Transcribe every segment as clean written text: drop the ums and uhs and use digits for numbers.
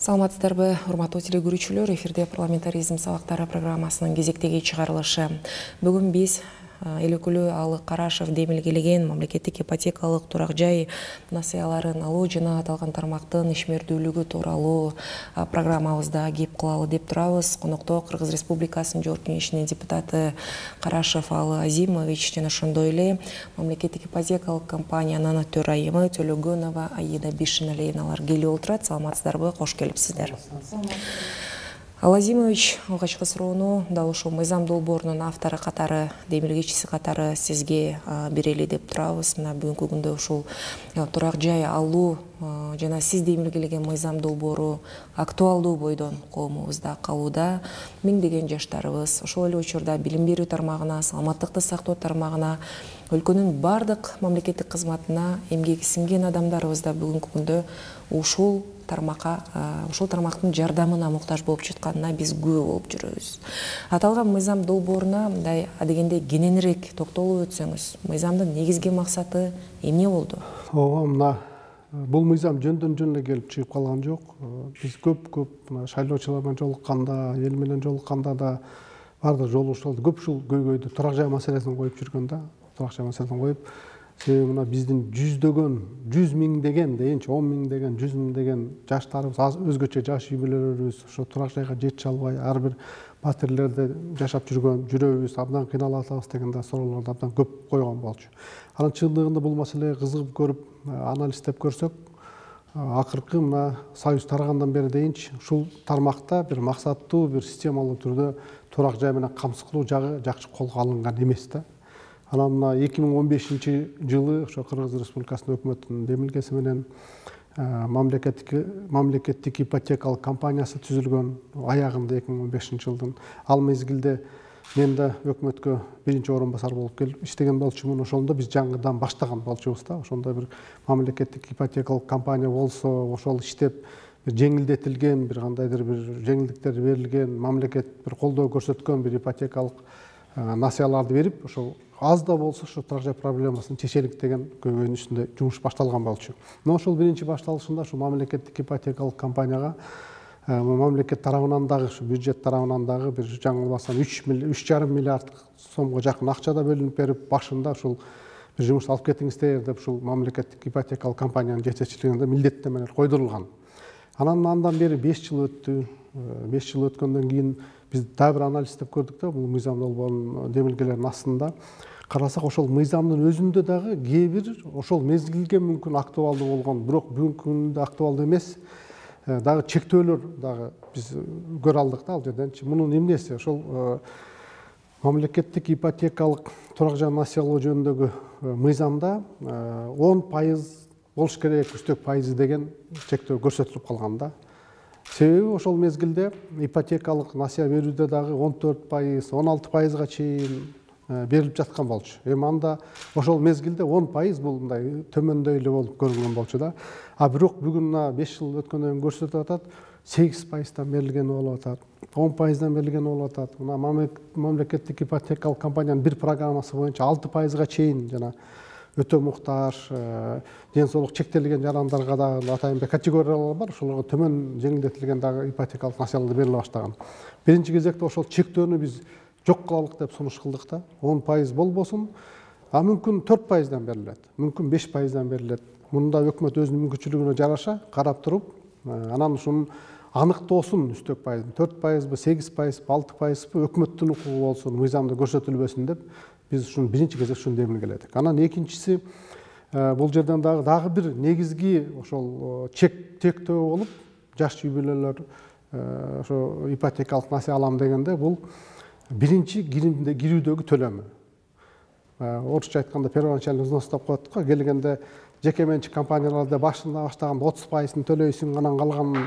Саламатсыздарбы, урматтуу теле-көрүүчүлөр, эфирде парламентаризм сабактары программасынын кезектеги чыгарылышы. Бүгүн биз эл өкүлү Алык Карашев демилгелеген мамлекеттик ипотекалык турак жай насыяларын алуу жана аталган тармактын ишмердүүлүгү тууралуу программабызда кеп кылалы деп турабыз. Конокто Кыргыз Республикасынын Жогорку Кеңешинин депутаты Карашев Алы Азимович жана ошондой эле мамлекеттик ипотекалык компаниянын төрайымы Төлөгөнова Аида Бишиналиевналар келип отурат. Саламатсыздарбы, кош келипсиздер. Алы Азимович, алгачкы суроону дал ушул мыйзам долбоорунун автору катары, демилгечиси катары сизге берели деп турабыз. Мына бүгүнкү күндө ушул турак жай алуу жана сиз демилгелеген мыйзам долбоору актуалдуу бойдон коомубузда калууда. Миңдеген жаштарыбыз ошол эле учурда билим берүү тармагына, саламаттыкты сактоо тармагына, өлкөнүн бардык мамлекеттик кызматына эмгеги сиңген адамдарыбыз да бүгүнкү күндө ушул тармактын жардамына муктаж болуп жатканына биз күбө болуп жүрөбүз. Аталган мыйзам долбооруна мындай адегенде кененирээк токтолуп өтсөңүз, мыйзамдын негизги максаты эмне болду? Мына бул мыйзам жөндөн жөн эле келип чыгып калган жок. Биз көп шайлоочулар менен жолукканда, эл менен жолукканда да бардык жолугушууларда көп ушул көйгөйдү турак жай маселесин коюп жүргөн да. Турак жай маселесин коюп, себеби мына биздин жүздөгөн, 100 миңдеген дейинчи, 10 миңдеген, 100 миңдеген жаштарыбыз, өзгөчө жаш үй бүлөлөрүбүз ошо турак жайга жете албай, ар бир батирлерде жашап жүрөбүз, абдан кыйналып атабыз деген да суроолорду абдан көп койгон болчу. Анын чындыгында бул маселеге кызыгып көрүп, анализдеп көрсөк, акыркы мына Союз тарагандан бери дейинчи ушул тармакта бир максаттуу, бир системалуу түрдө турак жай менен камсыз кылуу жагы жакшы колго алынган эмес да. Анан мына 2015-жылы ошо Кыргыз Республикасынын өкмөтүнүн демилгеси менен мамлекеттик ипотекалык компаниясы түзүлгөн аягында 2015-жылдын. Ал мезгилде мен да өкмөткө биринчи орун басар болуп келип иштеген болчумун. Ошондо биз жаңыдан баштаган болчубуз да. Ошондо бир мамлекеттик ипотекалык компания болсо, ошол иштеп бир жеңилдетилген, бир кандайдыр бир жеңилдиктер берилген, мамлекет бир колдоо көрсөткөн бир ипотекалык насыяларды берип, ошол аз да болсо ошо турак жай проблемасын чечелик деген көйгөйдүн үстүндө жумуш башталган болчу. Но ошол биринчи башталышында ушул мамлекеттик ипотекалык компанияга мамлекет тарабынан дагы, ушу бюджет тарабынан дагы бир жаңылбасам 3,5 миллиард сомго жакын акча да бөлүнүп берип, башында ушул бир жумуш алып кетиңиздер деп ушул мамлекеттик ипотекалык компаниянын жетекчилигинде милдеттенмелер койдурулган. Андан бери 5 жыл өттү. 5 жыл өткөндөн кийин биз дагы бир анализдеп көрдүк да, бул мыйзам долбоорунун демилгелеринин астында карасак, ошол мыйзамдын өзүндө дагы кээ бир ошол мезгилге мүмкүн актуалдуу болгон, бирок бүгүнкү күндө актуалдуу эмес дагы чектөөлөр дагы биз көрө алдык да ал жерденчи. Мунун эмнеси? Ошол мамлекеттик ипотекалык турак жай насыялоо жөнүндөгү мыйзамда 10% болуш керек, үстөк пайызы деген чектөө көрсөтүлүп калган да. Себеби ошол мезгилде ипотекалык насыя берүүдө дагы 14%, 16%га чейин берилип жаткан болчу. Эми анда ошол мезгилде 10% бул мындай төмөндөй эле болуп көрүнгөн болчу да. А бирок бүгүн 5 жыл өткөндөн кийин көрсөтүп атат, 8%дан берилген болуп атат, 10%дан берилген болуп атат. Мына мамлекеттик ипотекалык компаниянын бир программасы боюнча 6%га чейин жана өтө муктаж, ден соолук чектелген жарандарга дагы атайын бир категориялар бар, ошолорго төмөн жеңилдетилген дагы ипотекалык насыялар бериле баштаган. Биринчи кезекте ошол чектөөнү биз жок кылалык деп сунуш кылдык да. 10% болбосун, а мүмкүн 4%дан берилет, мүмкүн 5%дан берилет. Мында өкмөт өзүнүн мүмкүнчүлүгүнө жараша карап туруп, анан ушунун аныктоосун үстөк пайызын 4%бы, 8%бы, 6%бы өкмөттүн укугу болсун, мыйзамда көрсөтүлбөсүн деп биз ушуну биринчи кезек ушуну демилгеледик. Анан экинчиси, бул жерден дагы бир негизги ошол чектөө болуп, жаш үй бүлөлөр ошо ипотекалык насыя алам дегенде бул биринчи кирүүдөгү төлөмү. Орусча айтканда первоначальный взнос деп коет го. Келгенде жеке менчик компанияларда башында баштаганда 30%ын төлөйсүң, анан калганын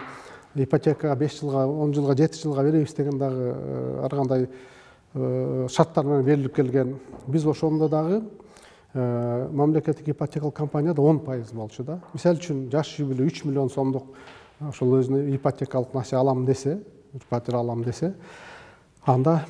ипотекага 5 жылга, 10 жылга, 7 жылга беребиз деген дагы ар кандай шарттар менен берилип келген. Биз ошондо дагы мамлекеттик ипотекалык компанияда 10% болчу да. Мисалы үчүн жаш үй бүлө 3 миллион сомдук ошол өзүнө ипотекалык насыя алам десе, пәтер алам десе, анда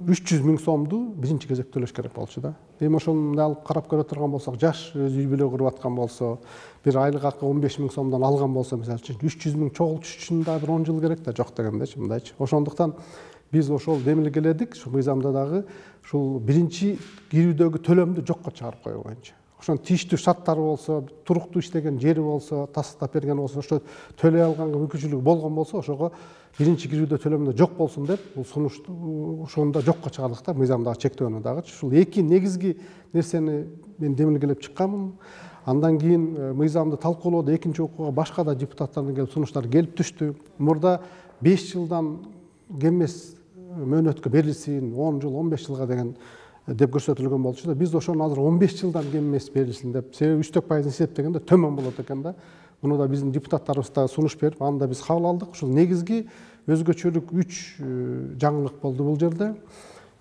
300 000 сомду биринчи кезек төлөш керек болчу да. Эми ошону алып карап көрө турган болсок, жаш өз үй бүлө куруп аткан болсо, бир айлык акы 15 000 сомдон алган болсо, мисалы үчүн 300 000 чогултуш үчүн да бир 10 жыл керек да, жок дегендечи, мындайчы. Ошондуктан биз ошол демилгеледик, ушул мыйзамда дагы ушул биринчи кирүүдөгү төлөмдү жокко чыгарып коюу боюнча. Ошонун тийиштүү шарттары болсо, туруктуу иштеген жери болсо, тастап берген болсо, ошо төлөй алганга мүмкүнчүлүгү болгон болсо, ошого биринчи кирүүдө төлөмдө жок болсун деп, бул сунушту ошондо жокко чыгардык да, мыйзамдагы чектөөнү дагы. Ушул эки негизги нерсени мен демилгелеп чыкканмын. Андан кийин мыйзамды талкуулоодо экинчи окууга башка да депутаттардын келип сунуштары келип түштү. Мурда 5 жылдан кем эмес мөөнөткө берилсин, 10 жыл, 15 жылга деген деп көрсөтүлгөн болчу да. Биз ошону азыр 15 жылдан кем эмес берилсин деп, себеби үчтөк пайызын эсептегенде төмөн болот экен да. Муну да биздин депутаттарыбыз да сунуш берип, аны да биз кабыл алдык. Ушул негизги өзгөчөлүк 3 жаңылык болду бул жерде.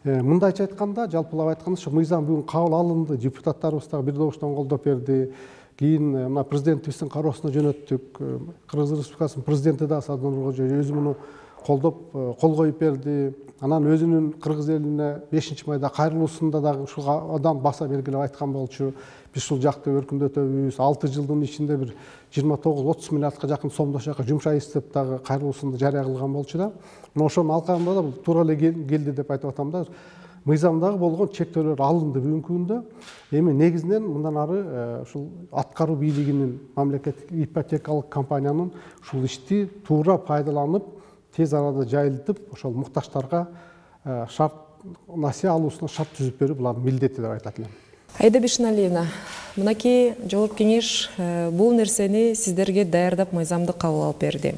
Мындайча айтканда, жалпылап айтканда, ушу мыйзам бүгүн кабыл алынды, депутаттарыбыз да бир добуштан колдоп берди. Кийин мына президентибиздин кароосуна жөнөттүк. Кыргыз Республикасынын президенти да Сооронбай Жээнбеков өзү муну колдоп, кол коюп берди. Анан өзүнүн кыргыз элине 5-майда кайрылуусунда дагы ушул адам баса белгилеп айткан болчу. Биз ушул жакты өркүндөтөбүз. 6 жылдын ичинде бир 29-30 миллиардка жакын сомдо ошол жака жумшайбыз деп дагы кайрылуусунда жарыя кылган болчу да. Мына ошонун алкагында да бул туура эле келди деп айтып атам да. Мыйзамдагы болгон чектөөлөр алынды бүгүнкү күндө. Эми негизинен мындан ары ушул аткаруу бийлигинин, мамлекеттик ипотекалык компаниянын ушул ишти туура пайдаланып, тез арада жайылтып, ошол муктаждарга шарт насыя алуусуна шарт түзүп берүү булардын милдети деп айтат элем. Аида Бишеналиевна, мынакей жогорку кеңеш бул нерсени сиздерге даярдап мыйзамды кабыл алып берди.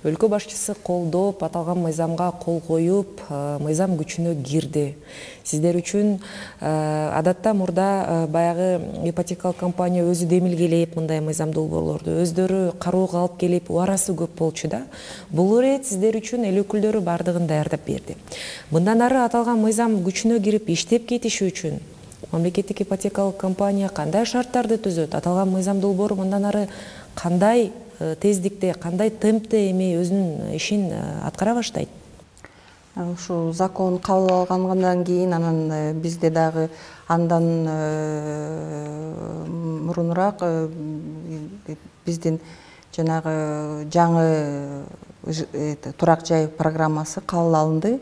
Өлкө башчысы колдоп, аталган мыйзамга кол коюп, мыйзам күчүнө кирди. Сиздер үчүн адатта мурда баягы ипотекалык компания өзү демилгелеп мындай мыйзам долбоорлорду өздөрү кароого алып келип, убарасы көп болчу да. Бул ирет сиздер үчүн эл өкүлдөрү бардыгын даярдап берди. Мындан ары аталган мыйзам күчүнө кирип иштеп кетиши үчүн мамлекеттик ипотекалык компания кандай шарттарды түзөт? Аталган мыйзам долбоору мындан ары кандай тездикте, кандай темпте эми өзүнүн ишин аткара баштайт? Ушу закон кабыл алгандан кийин анан бизде дагы андан мурунураак биздин жанагы жаңы турак жай программасы кабыл алынды.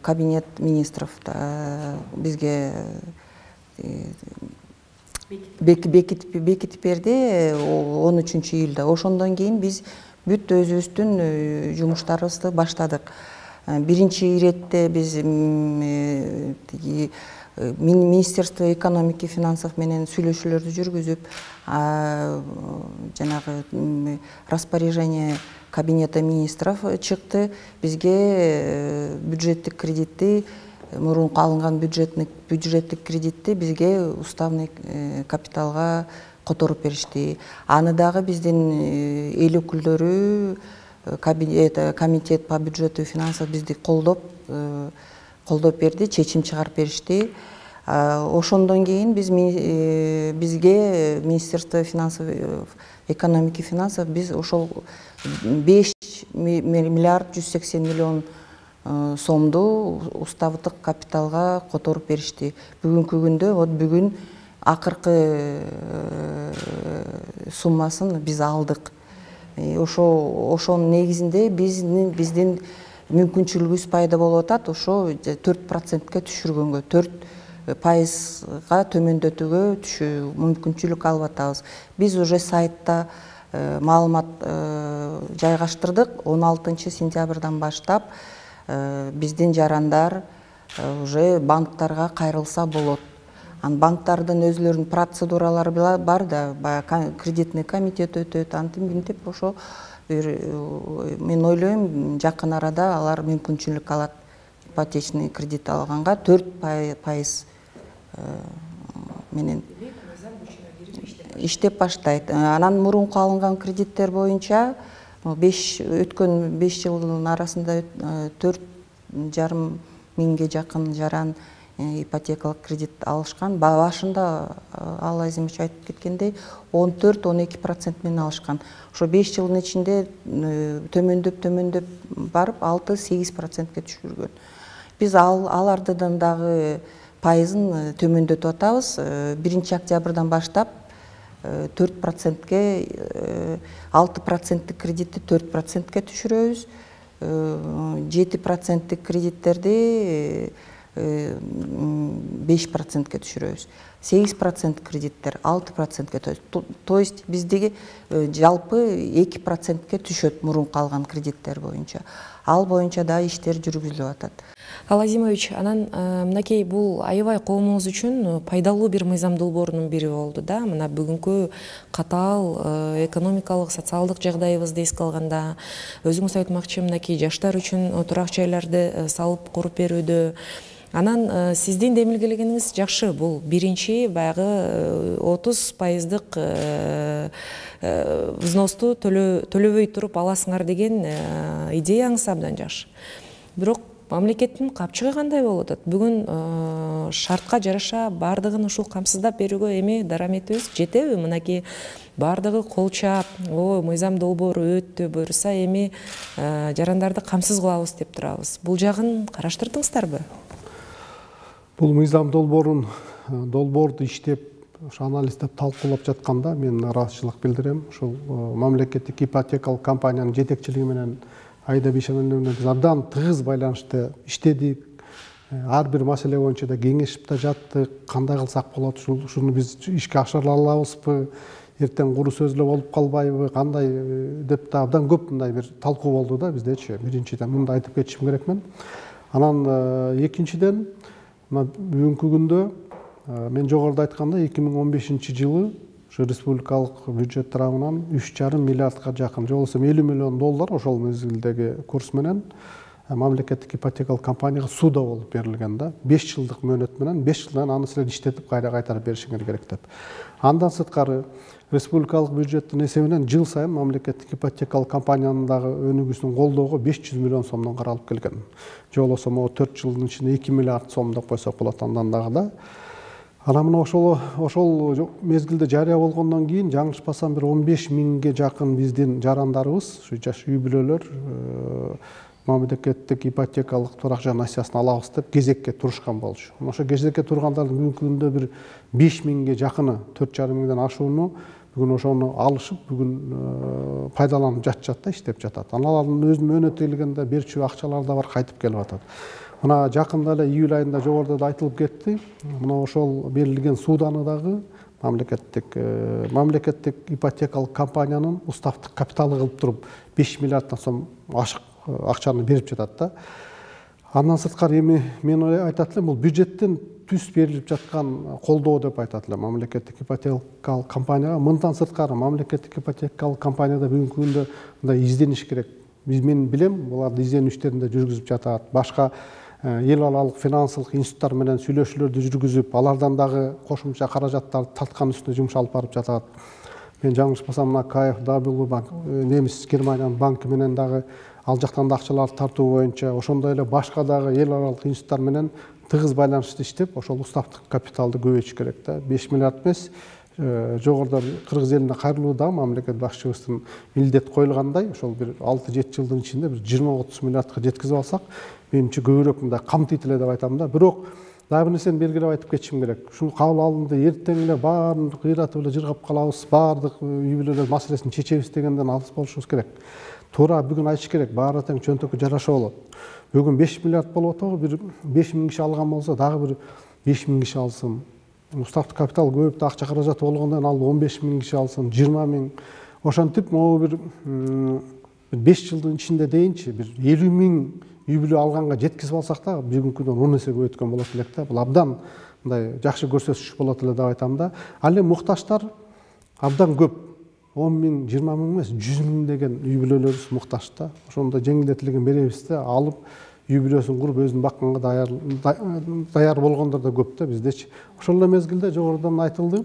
Кабинет министров бизге бекитип берди 13-июлда. Ошондон кийин биз бүт өзүбүздүн жумуштарыбызды баштадык. Биринчи иретте биз Министерство экономики финансов менен сүйлөшүүлөрдү жүргүзүп, жанагы распоряжение Кабинета министров чыкты. Бизге бюджеттик кредитти, мурунку алынган бюджеттик кредитти бизге уставный капиталга которуп беришти. Аны дагы биздин эл өкүлдөрү, комитет по бюджету и финансов бизди колдоп берди, чечим чыгарып беришти. Ошондон кийин бизге Министерство финансов, экономики финансов биз ошол 5 миллиард 180 миллион сомду уставдык капиталга которуп беришти. Бүгүнкү күндө, вот бүгүн акыркы суммасын биз алдык. Ошонун негизинде биздин мүмкүнчүлүгүбүз пайда болуп атат. Ошо 4%ке түшүргөнгө, 4%га төмөндөтүүгө мүмкүнчүлүк алып атабыз. Биз уже сайтта маалымат жайгаштырдык. 16 сентябрдан баштап биздин жарандар уже банктарга кайрылса болот. Банктардын өзлөрүнүн процедуралары бар да, кредитный комитет өтөт, антип ошо мен ойлойм жакын арада алар мүмкүнчүлүк алат ипотечный кредит алганга 4% менен иштеп баштайт. Анан мурунку алынган кредиттер боюнча өткөн 5 жылдын арасында 4,5 миңге жакын жаран ипотекалык кредит алышкан. Башында Алла Азимович айтып кеткендей 14-12% менен алышкан. Ошо 5 жылдын ичинде төмөндөп барып 6-8%ке түшүргөн. биз алардын дагы пайызын төмөндөтүп атабыз. 1 октябрдан баштап 4%ке 6%тик кредитти 4%ке түшүрөбүз. 7%тик кредиттерди 5%ке түшүрөбүз. 8% кредиттер 6%ке. То есть биздеги жалпы 2%ке түшөт мурунку алган кредиттер боюнча. Ал боюнча да иштер жүргүзүлүп атат. Ал Азимович, анан мынакей бул аябай коомубуз үчүн пайдалуу бир мыйзам долбоорунун бири болду да. Мына бүгүнкү катаал экономикалык, социалдык жагдайыбызды эске алганда, өзүңүз айтмакчы, мынакей жаштар үчүн турак жайларды салып куруп берүүдө. Анан сиздин демилгелегениңиз жакшы. Бул биринчи баягы 30%дык взносту төлөбөй туруп аласыңар деген идеяңыз абдан жакшы. Бирок мамлекеттин капчыгы кандай болуп атат? Бүгүн шартка жараша бардыгын ушул камсыздап берүүгө эми дараметибиз жетеби? Мынакей бардыгы колчап, мыйзам долбоору өттү, буюрса эми жарандарды камсыз кылабыз деп турабыз. Бул жагын караштырдыңыздарбы? Бул мыйзам долбоорду иштеп, анализдеп, талкуулап жатканда мен ыраазычылык билдирем. Ушул мамлекеттик ипотекалык компаниянын жетекчилиги менен Аида Бейшеналиевна биз абдан тыгыз байланышта иштедик. Ар бир маселе боюнча да кеңешип да жаттык. Кандай кылсак болот, ушуну биз ишке ашыра алабызбы, эртең куру сөзлө болуп калбайбы, кандай деп да абдан көп мындай бир талкуу болду да биздечи. Биринчиден мындай айтып кетишим керекмин. Анан экинчиден бүгүнкү күндө мен жогоруда айтканда 2015-жылы ушу республикалык бюджет тарабынан 3,5 миллиардга жакын, же болбосо $50 миллион ошол мезгилдеги курс менен мамлекеттик ипотекалык компанияга суда болуп берилген да. 5 жылдык мөөнөт менен 5 жылдан аны силер иштетип кайтарып беришиңер керек деп. Андан сырткары республикалык бюджеттин эсебинен жыл сайын мамлекеттик ипотекалык компаниянын дагы өнүгүүсүн колдоого 500 миллион сомдон каралып келген. Же болбосо 4 жылдын ичинде 2 миллиард сом деп койсок болот андан дагы да. Анан мына ошол мезгилде жарыя болгондон кийин жаңылышпасам бир 15 миңге жакын биздин жарандарыбыз, ушу жаш үй бүлөлөр мамлекеттик ипотекалык турак жай насыясын алабыз деп кезекке турушкан болчу. Ошо кезекке тургандардын бүгүнкү күндө бир 5 миңге жакыны, 4,5 миңден ашууну бүгүн ошону алышып, бүгүн пайдаланып жатышат да, иштеп жатат. Алардын өзүнүн мөөнөтү келгенде берчү акчалар да бар, кайтып келип атат. Мына жакында эле июль айында жогоруда да айтылып кетти. Мына ошол берилген суданы дагы мамлекеттик ипотекалык компаниянын уставдык капиталы кылып туруп 5 миллиарддан сом ашык акчаны берип жатат да. Андан сырткары эми мен айтат элем, бул бюджеттен түз берилип жаткан колдоо деп айтат элем мамлекеттик ипотекалык компанияга. Мындан сырткары мамлекеттик ипотекалык компанияда бүгүнкү күндө мындай издениш керек. Мен билем, буларды изденүү иштерин да жүргүзүп жатат. Башка эл аралык финансылык институттар менен сүйлөшүүлөрдү жүргүзүп, алардан дагы кошумча каражаттарды тарткан үстүнө жумуш алып барып жатат. Мен жаңылышпасам, мына KfW банк, немис Германиянын банкы менен дагы ал жактан да акчаларды тартуу боюнча, ошондой эле башка дагы эл аралык институттар менен тыгыз байланышта иштеп, ошол уставдык капиталды көбөйтүш керек да. 5 миллиард эмес, жогоруда кыргыз элине кайрылуу да мамлекет башчыбыздын милдет коюлгандай, ошол бир 6-7 жылдын ичинде бир 20-30 миллиардка жеткизип алсак, менимче көбүрөөк мындай камтыйт эле деп айтам да. Бирок дагы бир нерсени белгилеп айтып кетишим керек. Ушул кабыл алынды, эртең эле баарын кыйратып эле жыргап калабыз, баардык үй бүлөлөр маселесин чечебиз дегенден алыс болушубуз керек. Туура бүгүн айтыш керек, баары тең чөнтөккө жараша болот. Бүгүн 5 миллиард болуп атабы, бир 5 миң киши алган болсо, дагы бир 5 миң киши алсын. Уставдык капитал көбөйүп да акча каражаты болгондон ал 15 миң киши алсын, 20 миң. Ошентип, могу бир 5 жылдын ичинде дейинчи бир 50 миң үй бүлө алганга жеткизип алсак да, бүгүнкү күндөн 10 эсе көбөйткөн болот элек да. Бул абдан мындай жакшы көрсөтүш болот эле деп айтам да. Ал эми муктаждар абдан көп. 10 миң, 20 миң эмес, 100 миң деген үй бүлөлөрүбүз муктаж да. Ошондо жеңилдетилген беребиз да, алып үй бүлөсүн куруп өзүн бакканга даяр болгондор да көп да биздечи. Ошол эле мезгилде жогорудан айтылды,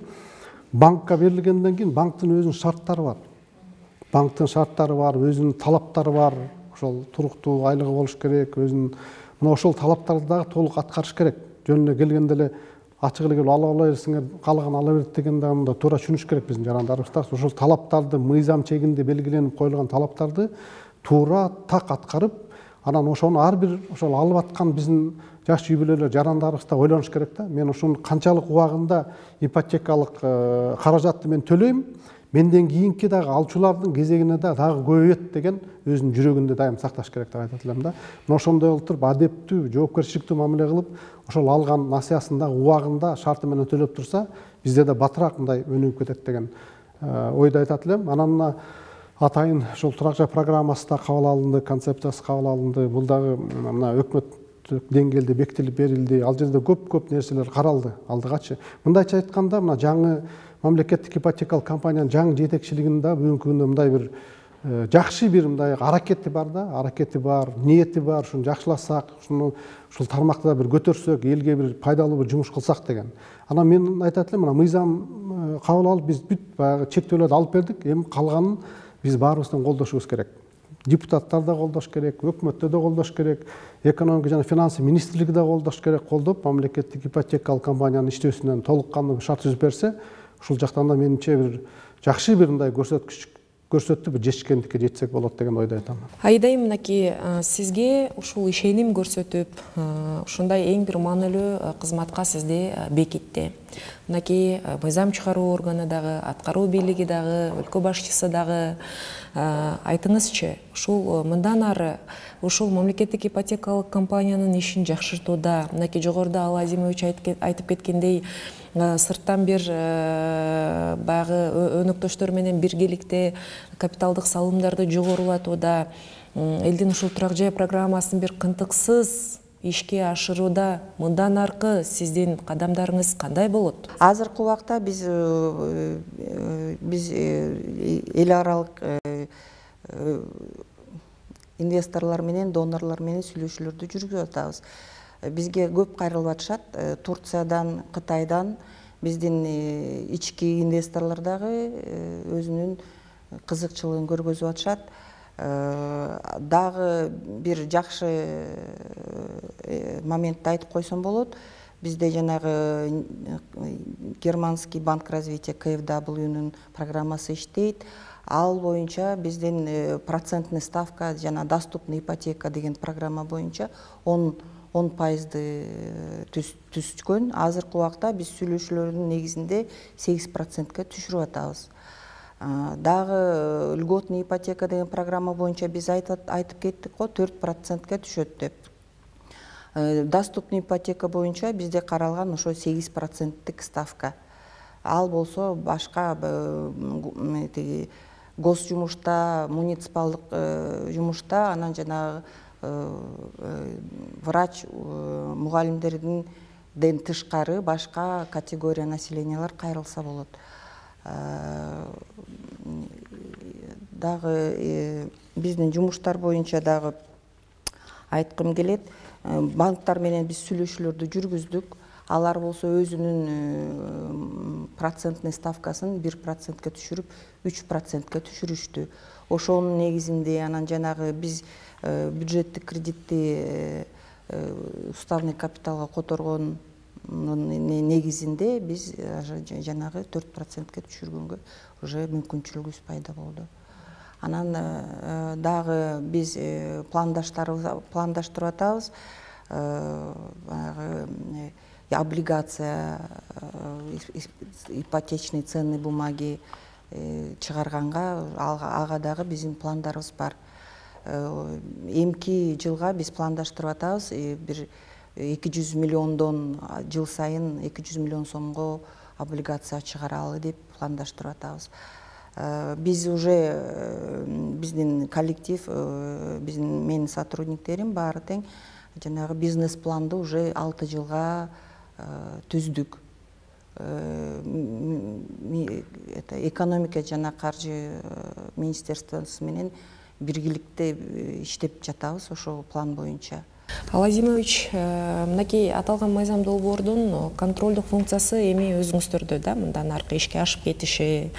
банкка берилгенден кийин банктын өзүнүн шарттары бар. Банктын шарттары бар, өзүнүн талаптары бар. Ошол туруктуу айлыгы болуш керек, өзүнүн мына ошол талаптарды дагы толук аткарыш керек. Жөн эле келгенде эле ачык эле келип ала берсиңер, каалаган ала берет дегенде анда туура түшүнүш керек биздин жарандарыбыз да. Ошол талаптарды, мыйзам чегинде белгиленип коюлган талаптарды туура так аткарып, Анан ошону ар бир ошол алып аткан биздин жаш үй бүлөлөр жарандарыбыз да ойлонуш керек да. Мен ушунун канчалык убагында ипотекалык каражатты мен төлөйм, менден кийинки дагы алчулардын кезегине дагы көбөйөт деген өзүнүн жүрөгүндө дайым сакташ керек деп айтат элем да. Мына ошондой болуп туруп адептүү, жоопкерчиликтүү мамиле кылып, ошол алган насыясын дагы убагында шарты менен төлөп турса, бизде да батыраак мындай өнүгүп кетет деген ойду айтат элем. Анан мына атайын ошол турак жай программасы да кабыл алынды, концепциясы кабыл алынды. Бул дагы мына өкмөттүк деңгээлде бекитилип берилди. Ал жерде көп нерселер каралды алдыгачы. Мындайча айтканда, мына жаңы мамлекеттик ипотекалык компаниянын жаңы жетекчилигинин да бүгүнкү күндө мындай бир жакшы бир мындай аракети бар да, ниети бар, ушуну жакшыласак, ушул тармакты да бир көтөрсөк, элге бир пайдалуу бир жумуш кылсак деген. Анан мен айтат элем, мына мыйзам кабыл алып, биз бүт баягы чектөөлөрдү алып бердик, эми калганын биз баарыбыздын колдошубуз керек. Депутаттар да колдош керек, өкмөттө да колдош керек, экономика жана финансы министрлиги да колдош керек, колдоп мамлекеттик ипотекалык компаниянын иштөөсүнөн толук кандуу шарт түзүп берсе, ушул жактан да менимче бир жакшы бир мындай көрсөттү бир жетишкендикке жетсек болот деген ойдо айтам. Айдай мынакей сизге ушул ишеним көрсөтүп, ушундай эң бир маанилүү кызматка сизди бекитти. Мынакей мыйзам чыгаруу органы дагы, аткаруу бийлиги дагы, өлкө башчысы дагы. Айтыңызчы, ушул мындан ары ушул мамлекеттик ипотекалык компаниянын ишин жакшыртууда, мынакей жогоруда Ал Азимович айтып кеткендей, сырттан бир баягы өнөктөштөр менен биргеликте капиталдык салымдарды жогорулатууда, элдин ушул турак жай программасын бир кынтыксыз ишке ашырууда мындан аркы сиздин кадамдарыңыз кандай болот? Азыркы убакта биз эл аралык инвесторлор менен, донорлор менен сүйлөшүүлөрдү жүргүзүп атабыз. Бизге көп кайрылып атышат. Турциядан, Кытайдан биздин ички инвесторлор дагы өзүнүн кызыкчылыгын көргөзүп атышат. Дагы бир жакшы моментти айтып койсом болот. Бизде жанагы Германский банк развития КФWнун программасы иштейт. Ал боюнча биздин процентный ставка жана доступный ипотека деген программа боюнча 10% түзгөн. Азыркы убакта биз сүйлөшүүлөрдүн негизинде 8%ка түшүрүп атабыз. Дагы льготный ипотека деген программа боюнча биз айтып кеттик го 4%ка түшөт деп. Доступный ипотека боюнча бизде каралган ошо 8%тик ставка. Ал болсо башка гос жумушта, муниципалдык жумушта, анан жанагы врач мугалимдерден тышкары башка категория населениялар кайрылса болот. Дагы биздин жумуштар боюнча дагы айткым келет. Банктар менен биз сүйлөшүүлөрдү жүргүздүк. Алар болсо өзүнүн процентный ставкасын 1%ка түшүрүп, 3%ка түшүрүштү. Ошонун негизинде анан жанагы биз бюджеттик кредитти уставный капиталга которгон негизинде биз жанагы 4%ка түшүргөнгө уже мүмкүнчүлүгүбүз пайда болду. Анан дагы биз пландаштырып атабыз. Облигация, ипотечный ценный бумаги чыгарганга ага дагы биздин пландарыбыз бар. Эмки жылга биз пландаштырып атабыз. Бир 200 миллиондон жыл сайын 200 миллион сомго облигация чыгаралы деп пландаштырып атабыз. Биз уже биздин коллектив, менин сотрудниктерим баары тең жанагы бизнес планды уже 6 жылга түздүк. Экономика жана каржы министерствосу менен биргеликте иштеп жатабыз ошол план боюнча. Ал Азимович, мынакей аталган мыйзам долбоордун контролдук функциясы эми өзүңүздөрдө да, мындан аркы ишке ашып кетиши.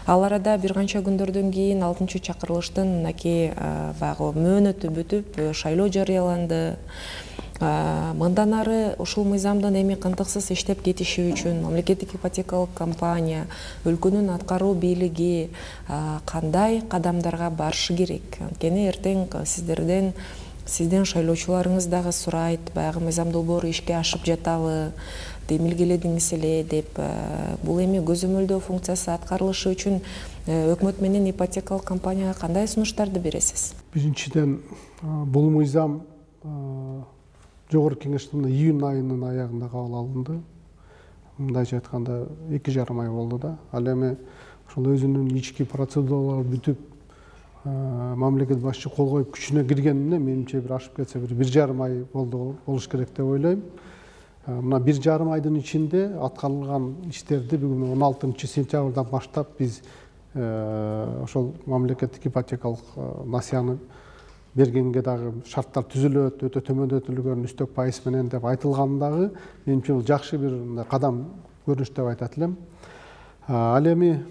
Ал арада бир канча күндөрдөн кийин 6-чакырылыштын мынакей баягы мөөнөтү бүтүп, шайлоо жарыяланды. Мындан ары ушул мыйзамдын эми кантыксыз иштеп кетиши үчүн мамлекеттик ипотекалык компания, өлкөнүн аткаруу бийлиги кандай кадамдарга барышы керек? Анткени эртең сиздерден Сиздин шайлоочуларыңыз дагы сурайт, баягы мыйзам долбоору ишке ашып жатабы, демилгеледиңиз эле деп. Бул эми көзөмөлдөө функциясы аткарылышы үчүн өкмөт менен ипотекалык компанияга кандай сунуштарды бересиз? Биринчиден, бул мыйзам жогорку кеңештин июнь айынын аягында кабыл алынды. Мындайча айтканда 2,5 ай болду да. Ал эми ошол өзүнүн ички процедуралары бүтүп, мамлекет башчы кол коюп күчүнө киргенине менимче бир ашып кетсе бир 1,5 ай болуш керек деп ойлойм. Мына 1,5 айдын ичинде аткарылган иштерди бүгүн 16 сентябрдан баштап биз ошол мамлекеттик ипотекалык насыяны бергенге дагы шарттар түзүлөт, өтө төмөндөтүлгөн үстөк пайыз менен деп айтылган дагы менимче бул жакшы бир кадам көрүнүш деп айтат элем. Ал эми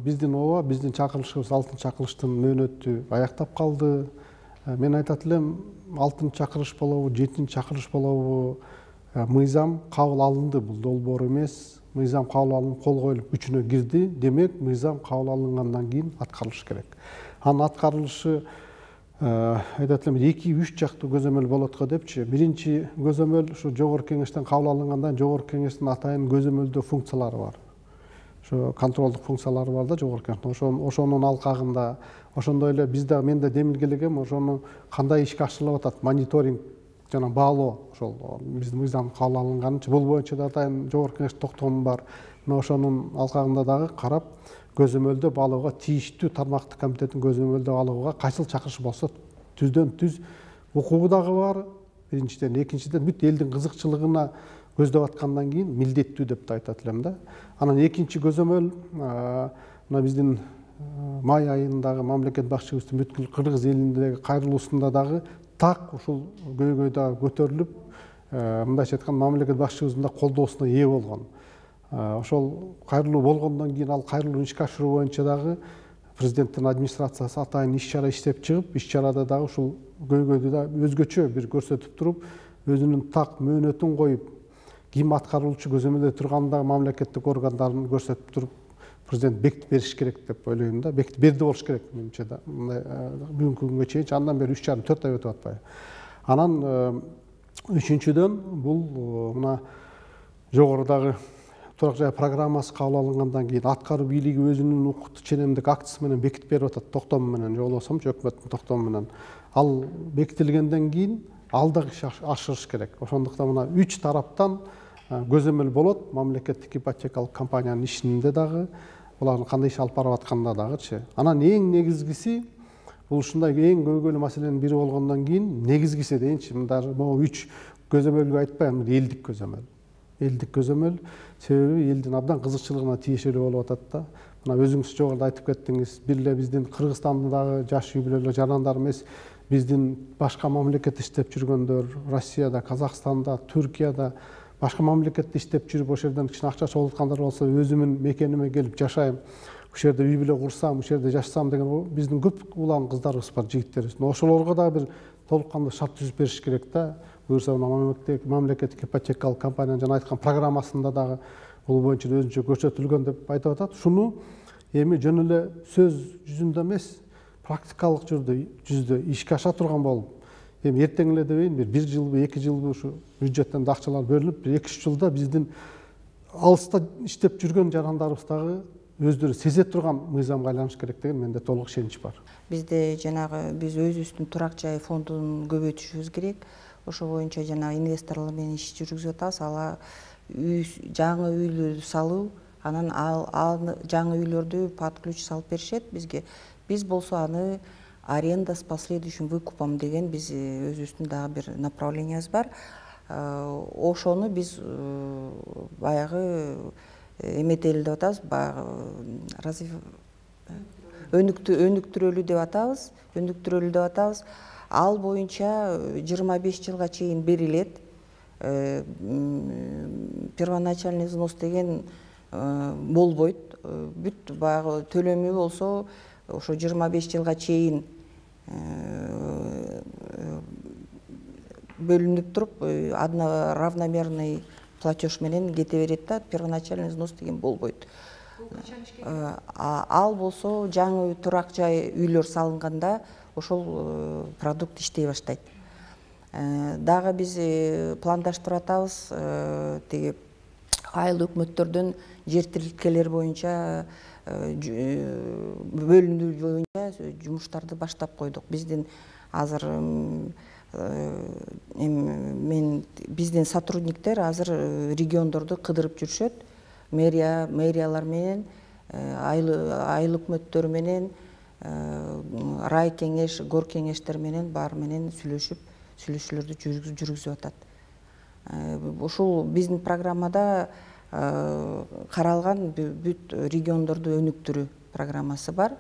биздин ооба, биздин чакырылышыбыз 6-чакырылыштын мөөнөтү аяктап калды. Мен айтат элем 6-чакырылыш болобу, 7-чакырылыш болобу, мыйзам кабыл алынды, бул долбоор эмес. Мыйзам кабыл алынып, кол коюлуп күчүнө кирди. Демек, мыйзам кабыл алынгандан кийин аткарылыш керек. Анын аткарылышы айтат элем 2-3 жактуу көзөмөл болот го депчи. Биринчи көзөмөл ушу жогорку кеңештен кабыл алынгандан жогорку кеңештин атайын көзөмөлдөө функциялары бар. Ошо контролдук функциялары бар да жогорку кеңештин. Ошонун алкагында, ошондой эле бизде мен да демилгелегем, ошону кандай ишке ашырылып атат, мониторинг жана баалоо, ошол биздин мыйзам кабыл алынганчы бул боюнча да атайын жогорку кеңеш токтому бар. Мына ошонун алкагында дагы карап, көзөмөлдөө баалоого тийиштүү тармактык комитеттин көзөмөлдөө баалоого кайсыл чакырыш болсо түздөн түз укугу дагы бар. Биринчиден, экинчиден бүт элдин кызыкчылыгына көздөп аткандан кийин милдеттүү деп да айтат элем да. Анан экинчи көзөмөл мына биздин май айындагы мамлекет башчыбыздын бүткүл кыргыз элиндеги кайрылуусунда дагы так ушул көйгөй дагы көтөрүлүп, мындайча айтканда мамлекет башчыбыздын да колдоосуна ээ болгон. Ошол кайрылуу болгондон кийин ал кайрылууну ишке ашыруу боюнча дагы президенттин администрациясы атайын иш-чара иштеп чыгып, иш-чарада дагы ушул көйгөйдү да өзгөчө бир көрсөтүп туруп, өзүнүн так мөөнөтүн коюп, ким аткаруучу көзөмөлдө турган дагы мамлекеттик органдарын көрсөтүп туруп, президент бекитип бериш керек деп ойлойм да. Бекитип берди болуш керек менимче да. Бүгүнкү күнгө чейин андан бери 3,5-4 ай өтүп атпайбы. Анан үчүнчүдөн бул мына жогорудагы турак жай программасы кабыл алынгандан кийин аткаруу бийлиги өзүнүн укуктуу ченемдик актысы менен бекитип берип атат, токтому менен же болбосомчу өкмөттүн токтому менен. Ал бекитилгенден кийин ал дагы ашырыш керек. Ошондуктан мына 3 тараптан көзөмөл болот. Мамлекеттик ипотекалык компаниянын ишинде дагы, булардын кандай иш алып барып атканда дагычы. Анан эң негизгиси бул ушундай эң көйгөйлүү маселенин бири болгондон кийин негизгиси дейинчи, мында могу 3 көзөмөлгө айтпайм, элдик көзөмөл. Элдик көзөмөл себеби элдин абдан кызыкчылыгына тиешелүү болуп атат да. Мына өзүңүз жогоруда айтып кеттиңиз, бир эле биздин Кыргызстандагы жаш үй бүлөлөр жарандар эмес, биздин башка мамлекетте иштеп жүргөндөр, Россияда, Казакстанда, Түркияда, башка мамлекетте иштеп жүрүп, ошол жерден кичине акча чогултуп аткандар болсо, өзүмүн мекениме келип жашайм, ошол жерде үй бүлө курсам, ошол жерде жашасам деген биздин көп улан кыздарыбыз бар, жигиттерибиз. Ошолорго дагы бир толук кандуу шарт түзүп бериш керек да. Буюрса мамлекеттик ипотекалык компаниянын жана айткан программасында дагы бул боюнча өзүнчө көрсөтүлгөн деп айтып атат. Шуну эми жөн эле сөз жүзүндө эмес, практикалык жүздө ишке аша турган болуп, эми эртең эле дебейин, бир 1 жылбы, 2 жылбы ушу бюджеттен да акчалар бөлүнүп, бир 2-3 жылда биздин алыста иштеп жүргөн жарандарыбыз дагы өздөрү сезе турган мыйзамга айланыш керек деген менде толук ишенич бар. Бизде жанагы биз өзүбүздүн турак жай фондун көбөйтүшүбүз керек. Ошол боюнча жанагы инвесторлор менен иш жүргүзүп атабыз. Ала жаңы үйлөрдү салуу, анан ал жаңы үйлөрдү под ключ салып беришет бизге. Биз болсо аны аренда с последующим выкупом деген биз өзүбүздүн дагы бир направленияыбыз бар. Ошону биз баягы эметели деп атабыз, баягы өнүктүрөлүү деп атабыз, Ал боюнча 25 жылга чейин берилет. Первоначальный взнос деген болбойт. Бүт баягы төлөмү болсо ошо 25 жылга чейин бөлүнүп туруп, равномерный платеж менен кете берет да, первоначальный взнос деген болбойт. Ал болсо жаңы турак жай үйлөр салынганда ошол продукт иштей баштайт. Дагы биз пландаштырып атабыз, тиги айыл өкмөттөрдөн жер тилкелер боюнча бөлүнүү боюнча жумуштарды баштап койдук. Биздин азыр биздин сотрудниктер азыр региондорду кыдырып жүрүшөт. Мэриялар менен, айыл өкмөттөрү менен, рай кеңеш, гор кеңештер менен баары менен сүйлөшүүлөрдү жүргүзүп атат. Ушул биздин программада каралган бүт региондорду өнүктүрүү программасы бар.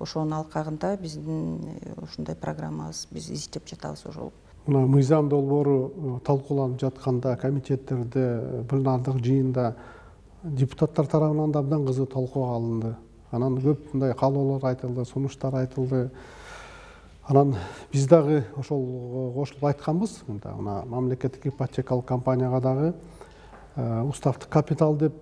Ошонун алкагында биздин ушундай программабыз биз издеп жатабыз ошол. Мына мыйзам долбоору талкууланып жатканда, комитеттерде, пленардык жыйында депутаттар тарабынан да абдан кызуу талкууга алынды. Анан көп мындай каалоолор айтылды, сунуштар айтылды. Анан биз дагы ошол кошулуп айтканбыз. Мына мамлекеттик ипотекалык компанияга дагы уставдык капитал деп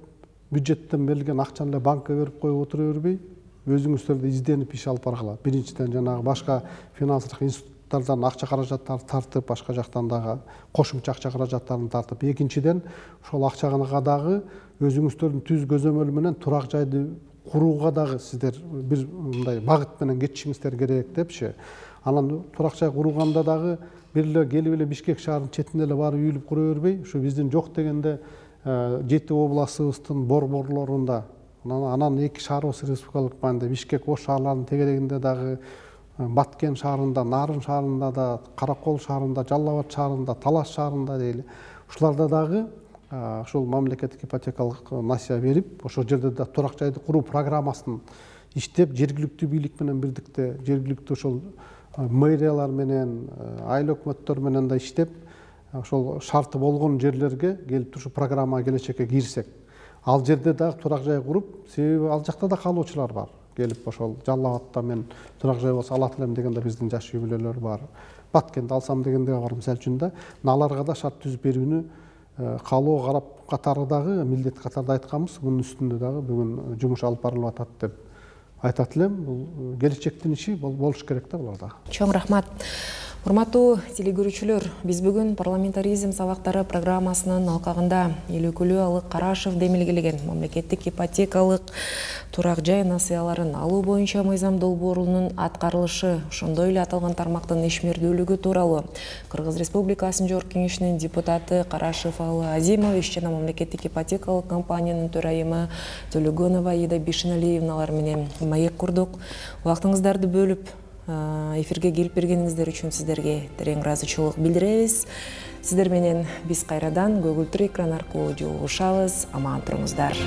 бюджеттен берилген акчаны эле банкка берип коюп отура бербей, өзүңүздөр да изденип иш алып баргыла. Биринчиден жанагы башка финансылык институттардан акча каражаттарды тартып, башка жактан дагы кошумча акча каражаттарын тартып, экинчиден ошол акчага дагы өзүңүздөрдүн түз көзөмөл менен турак жайды курууга дагы сиздер бир мындай багыт менен кетишиңиздер керек депчи. Анан турак жай курганда дагы бир эле келип эле Бишкек шаарынын четине эле барып үйүлүп кура бербей, ушу биздин жок дегенде 7 областыбыздын борборлорунда, анан 2 шаарыбыз республикалык маанидә Бишкек Ош шаарларынын тегерегинде дагы, Баткен шаарында, Нарын шаарында да, Каракол шаарында, Жалал Абад шаарында, Талас шаарында дейли. Ушуларда дагы ошол мамлекеттик ипотекалык насыя берип, ошол жерде да турак жайды куруу программасын иштеп, жергиликтүү бийлик менен бирдикте, жергиликтүү ошол мэриялар менен, айыл өкмөттөр менен да иштеп, ошол шарты болгон жерлерге келип ушу программага келечекке кирсек, ал жерде дагы турак жай куруп, себеби ал жакта да каалоочулар бар. Келип ошол Жалал Абадта мен турак жай болсо алат элем дегенде биздин жаш үй бүлөлөр бар. Баткенди алсам дегенде бар, мисалы үчүн да, аларга да шарт түзүп берүүнү каалоо карап катары дагы милдет катарда айтканбыз. Мунун үстүндө дагы бүгүн жумуш алып барылып атат деп айтат элем. Бул келечектин иши болуш керек да буларда. Чоң рахмат. Урматтуу телегөрүүчүлөр, биз бүгүн парламентаризм сабактары программасынын алкагында Элөкүлүү Алык Карашев демилгелеген мамлекеттик ипотекалык турак жай насыяларын алуу боюнча мыйзам долбоорунун аткарылышы, ошондой эле аталган тармактын ишмердүүлүгү тууралуу Кыргыз Республикасынын Жогорку Кеңешинин депутаты Карашев Алы Азимович жана мамлекеттик ипотекалык компаниянын төрайымы Төлөгөнова Аида Бишеналиевналар менен маек курдук. Убактыңыздарды бөлүп эфирге келип бергениңиздер үчүн сиздерге терең ыраазычылык билдиребиз. Сиздер менен биз кайрадан көгүлтүр экран аркылуу жолугушабыз. Аман туруңуздар.